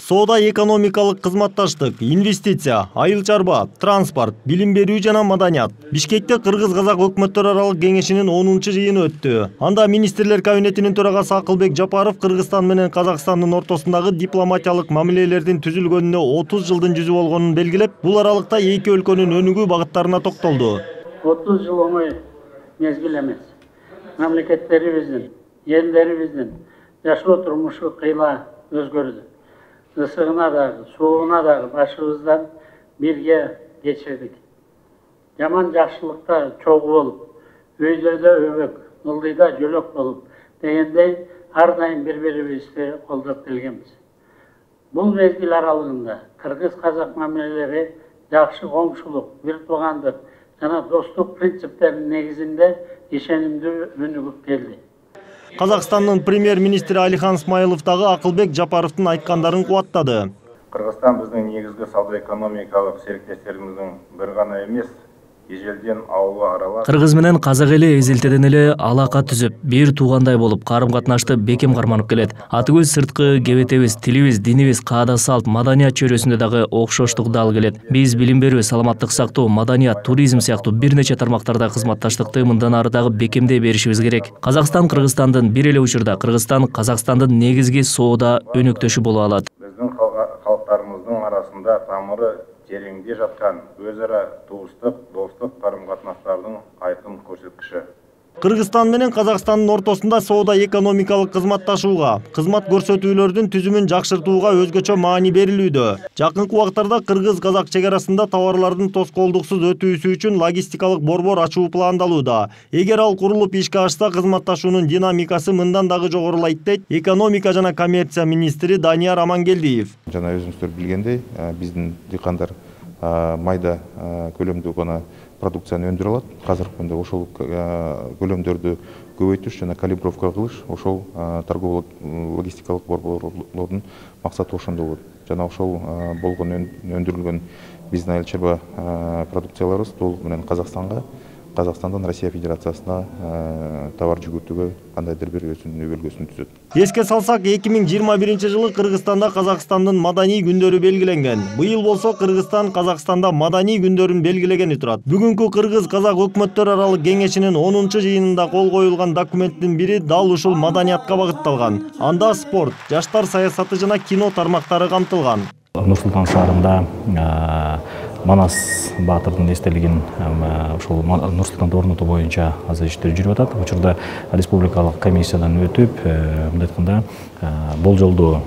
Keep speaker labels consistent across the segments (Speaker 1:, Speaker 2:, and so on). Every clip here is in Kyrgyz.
Speaker 1: Соода экономикалык кызматташтык, инвестиция, айыл чарба, транспорт, билим берүү жана маданият. Бишкекте Кыргыз-Казак өкмөттөр аралык кеңешинин 10-чы жыйыны өттү. Анда министрлер кабинетинин төрагасы Акылбек Жапаров Кыргызстан менен Казакстандын ортосундагы дипломатиялык мамилелердин түзүлгөнүнө 30 жылдын жүзү болгонун белгилеп, бул аралыкта эки өлкөнүн өнүгүү багыттарына токтолду.
Speaker 2: 30 жыл оңой мезгил эмес. Мамлекеттерибиздин, элдерибиздин жашоо турмушу кыйла өзгөрдү. Ысыгына дагы, суугуна дагы башыбыздан бирге кечирдик. Жаман жакшылыкта чогуу болуп, өйдөрдө өбөк, ылдыйда жөлөк болуп дегендей ар дайым бири-бирибизди колдоп келгенбиз. Бул мезгил аралыгында Кыргыз-Казак мамилелери жакшы коңшулук, бир туугандык жана достук принциптеринин негизинде ишенимдүү өнүгүп келди.
Speaker 1: Казакстандын премьер-министри Алихан Смайлов дагы Акылбек Жапаровдун айткандарын кубаттады.
Speaker 3: Кыргызстан биздин негизги сауда-экономикалык сериктештерибиздин бир гана эмес, ежелден ауылы аралаш.
Speaker 4: Кыргыз менен казак эли эзелтеден эле алака түзүп, бир туугандай болуп, карым-катнашты бекем карманып келет. Атыбыз, сырткы кебетебиз, тилибиз, динибиз, каада салт, маданият чөйрөсүндө дагы окшоштук дал келет. Биз билим берүү, саламаттык сактоо, маданият, туризм сыяктуу бир нече тармактарда кызматташтыкты мындан ары дагы бекемдей беришибиз керек. Казакстан Кыргызстандын бир эле учурда Кыргызстан Казакстандын негизги соода өнөктөшү боло алат.
Speaker 3: Биздин калктарыбыздын арасында тамыры тереңде жаткан өз ара туустук, достук карым-катнаштардын айкын көрсөткүчү.
Speaker 1: Кыргызстан менен Казакстандын ортосунда соода экономикалык кызматташууга, кызмат көрсөтүүлөрдүн түзүмүн жакшыртууга өзгөчө маани берилүүдө. Жакынкы убактарда Кыргыз-Казак чек арасында товарлардын тоскоолдуксуз өтүүсү үчүн логистикалык борбор ачуу пландалууда. Эгер ал курулуп ишке ашса, кызматташуунун динамикасы мындан дагы жогорулайт дейт экономика жана коммерция министри Данияр Амангелдиев.
Speaker 5: Жана өзүңүздөр билгендей, биздин дыйкандар майда көлөмдүү гана продукцияны өндүрө алат. Азыркы күндө ошол көлөмдөрдү көбөйтүш жана калибровка кылыш ошол торгово логистикалык борборлордун максаты ошондо болот. Жана ошол болгон өндүрүлгөн биздин айыл чарба продукцияларыбыз толук менен Казакстандан Россия Федерациясына товар жүгөтүүгө кандайдыр бир өзүнүн өбөлгөсүн түзөт.
Speaker 1: Эске салсак, 2021-жылы Кыргызстанда Казакстандын маданий күндөрү белгиленген. Быйыл болсо Кыргызстан Казакстанда маданий күндөрүн белгилегени турат. Бүгүнкү Кыргыз-Казак өкмөттөр аралык кеңешинин 10-чы жыйынында кол коюлган документтин бири дал ушул маданиятка багытталган. Анда спорт, жаштар саясаты жана кино тармактары камтылган.
Speaker 6: Нур-Султан шаарында Манас Баатырдын эстелигин ушул Нур-Султанда орнотуу боюнча азыр иштер жүрүп атат. Учурда республикалык комиссиядан өтүп, мындай айтканда болжолдуу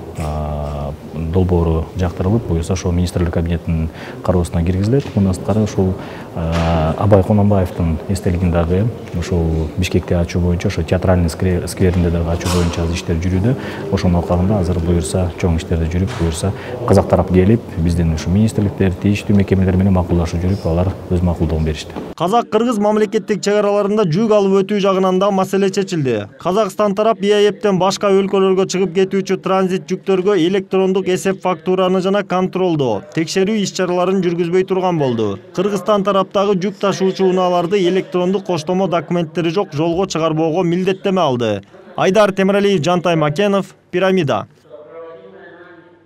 Speaker 6: долбоору жактырылып, буюрса ошол министрлер кабинетинин кароосуна киргизилет. Мындан сырткары ушул Абай Кононбаевдин эстелигин дагы ушул Бишкекте ачуу боюнча, ошо театральный скверинде дагы ачуу боюнча азыр иштер жүрүүдө. Ошонун алкагында азыр буюрса чоң иштерде жүрүп, буюрса казак тарап келип, биздин ушу министрликтер, тийиштүү мекемелер менен макулдашып жүрүп, алар өз макулдугун беришти.
Speaker 1: Казак-Кыргыз мамлекеттик чек араларында жүк алып өтүү жагынан да маселе чечилди. Казакстан тарап ИАЭПтен башка өлкөлөргө чыгып кетүүчү транзит жүктөргө электрондук эсеп фактураны жана контролдоо, текшерүү иш-чараларын жүргүзбөй турган болду. Кыргызстан тараптагы жүк ташуучу унааларды электрондук коштомо документтери жок жолго чыгарбоого милдеттеме алды. Айдар Темиралиев, Жантай Макенов, Пирамида.